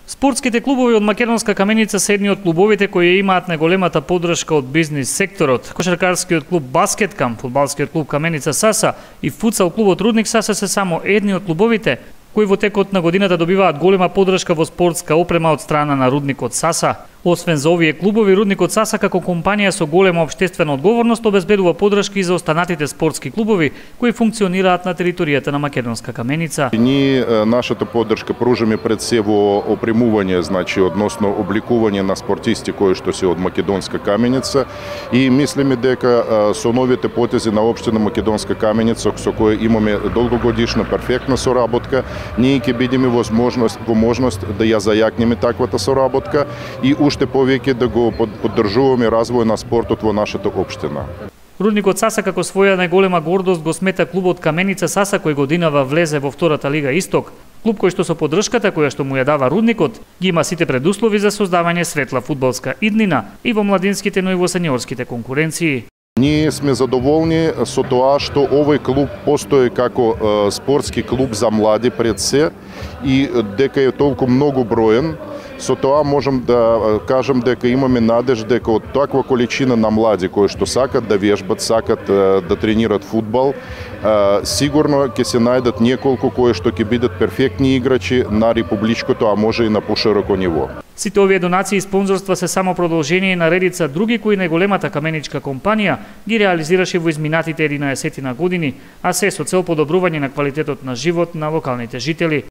Спортските клубови од Македонска Каменица се едни од клубовите кои имаат најголемата поддршка од бизнис секторот. Кошаркарскиот клуб Баскеткам, фудбалскиот клуб Каменица Саса и футсал клубот Рудник Саса се само едни од клубовите кои во текот на годината добиваат голема поддршка во спортска опрема од страна на Рудникот Саса. Освен за овие клубови, Рудникот Саса како компанија со голема општествена одговорност обезбедува поддршка и за останатите спортски клубови кои функционираат на територијата на Македонска Каменица. Ние нашата поддршка пружаме пред се во опремување, значи односно обликување на спортисти кои што се од Македонска Каменица и мислиме дека со новите потези на општина Македонска Каменица со која имаме долгогодишна перфектна соработка, ние ќе бидеме во можност да ја зајакнеме таквата соработка и уште повеќе да го поддржуваме развој на спортот во нашата општина. Рудникот Саса како своја најголема гордост го смета клубот Каменица Саса кој годинава влезе во втората лига Исток. Клуб кој што со поддршката која што му ја дава Рудникот ги има сите предуслови за создавање светла фудбалска иднина и во младинските, но и во сениорските конкуренции. Ние сме задоволни со тоа што овој клуб постои како спортски клуб за млади пред се и дека е толку многу броен. Со тоа можам да кажам дека имаме надеж дека од таква количина на млади кои што сакат да вежбат, сакат да тренират фудбал, сигурно ќе се најдат неколку кои што ќе бидат перфектни играчи на републичкото, а може и на пошироко ниво. Сите овие донации и спонзорства се само продолжение на редица други кои најголемата каменичка компанија ги реализираше во изминатите 11 години, а се со цел подобрување на квалитетот на живот на локалните жители.